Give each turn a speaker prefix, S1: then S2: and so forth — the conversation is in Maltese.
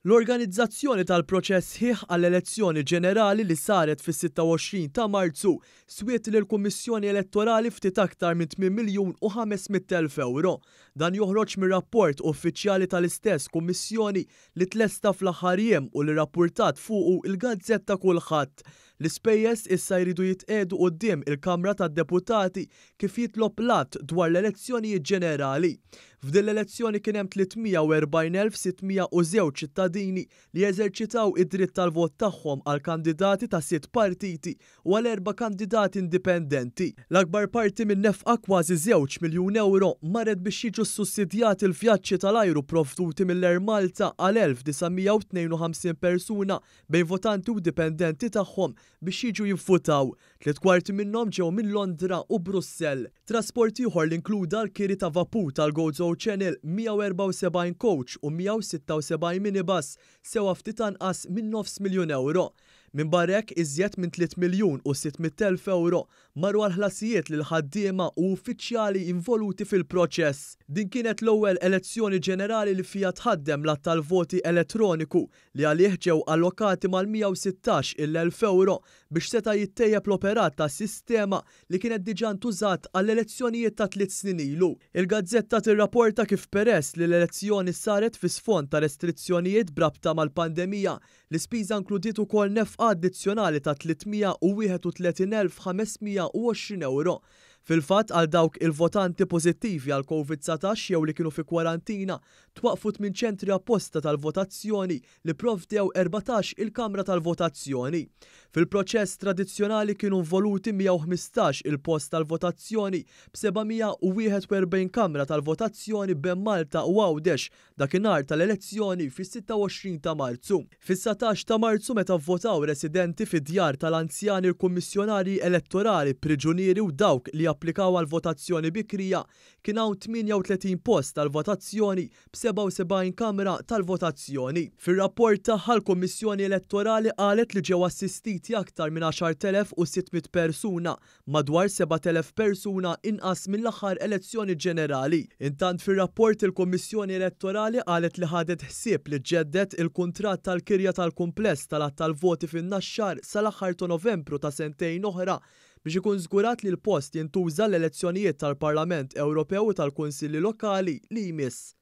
S1: L-organizzazzjoni tal-proċess sħiħ għall-elezzjoni ġenerali li saret fis-26 ta' Marzu swiet lill-Kummissjoni Elettorali ftit aktar minn 8 miljun u 500 elf ewro. Dan joħroġ mir-rapport uffiċjali tal-istess Kummissjoni li tlesta fl-aħħar jiem u li rrappurtat fuqu l-gazzetta Kullħadd. L-ispejjeż issa jridu jitqiegħdu quddiem il-Kamra tad-Deputati kif jitlob l-Att dwar l-Elezzjonijiet Ġenerali. F'din l-elezzjoni kien hemm 340,602 ċittadini li eżerċitaw id-dritt tal-vot tagħhom għal kandidati ta' sitt partiti u għal erba' kandidati indipendenti. L-akbar parti min-nefqa, kważi żewġ miljun ewro, marret biex jiġu ssussidjati l-vjaġġi tal-ajru pprovduti mill-Air Malta għal 1,952 persuna bejn votanti u dipendenti tagħhom biex jiġu jivvutaw. 3/4 minnhom ġew minn Londra u Brussell. Trasport ieħor li inkluda l-kiri ta' vapur tal-Gozo Channel, 174 coach u 176 minibus sewa ftit anqas minn nofs miljun ewro. Minbarra hekk, iżjed minn 3 miljun u 600 elf ewro marru għal ħlasijiet lil ħaddiema u uffiċjali involuti fil-proċess. Din kienet l-ewwel elezzjoni ġenerali li fiha tħaddem l-għadd tal-voti elettroniku li għalih ġew allokati mal-116 il-elf ewro biex seta' jittejjeb l-operat tas-sistema li kienet diġà ntużat għall-elezzjonijiet ta' tliet snin ilu. Il-gazzetta tirrapporta kif peress li l-elezzjoni saret fi sfond ta' restrizzjonijiet b'rabta mal-pandemija, l-ispiża inkludiet ukoll nefqa addizzjonali ta' 331,520 ewro. Fil-fatt, għal dawk il-votanti pożittivi għall-Covid 19 jew li kienu fi kwarantina, Twaqqfu tmien ċentri apposta tal-votazzjoni li pprovdew 14 il-kamra tal-votazzjoni. Fil-proċess tradizzjonali kienu involuti 115 il-post tal-votazzjoni b'741 kamra tal-votazzjoni bejn Malta u Għawdex dakinhar tal-elezzjoni fis-26 ta' Marzu. Fis-19 ta' Marzu meta vvotaw residenti fi djar tal-anzjani l-kummissjonarji elettorali, priġunieri u dawk li applikaw għal votazzjoni bikrija Kien hawn 38 post tal-votazzjoni b'77 kamra tal-votazzjoni. Fir-rapport tagħha l-Kummissjoni Elettorali qalet li ġew assistiti aktar minn 10,600 persuna, madwar 7,000 persuna inqas mill-aħħar elezzjoni ġenerali. Intant fir-rapport il-Kummissjoni Elettorali qalet li ħadet ħsieb li ġġedded il-kuntratt tal-kirja tal-kumpless tal-għadd tal-voti fin-Naxxar sal-aħħar ta' Novembru ta' sentejn oħra biex ikun żgurat li l-post jintuża għall-elezzjonijiet tal-Parlament Ewropew u tal-Kunsilli Lokali li jmiss.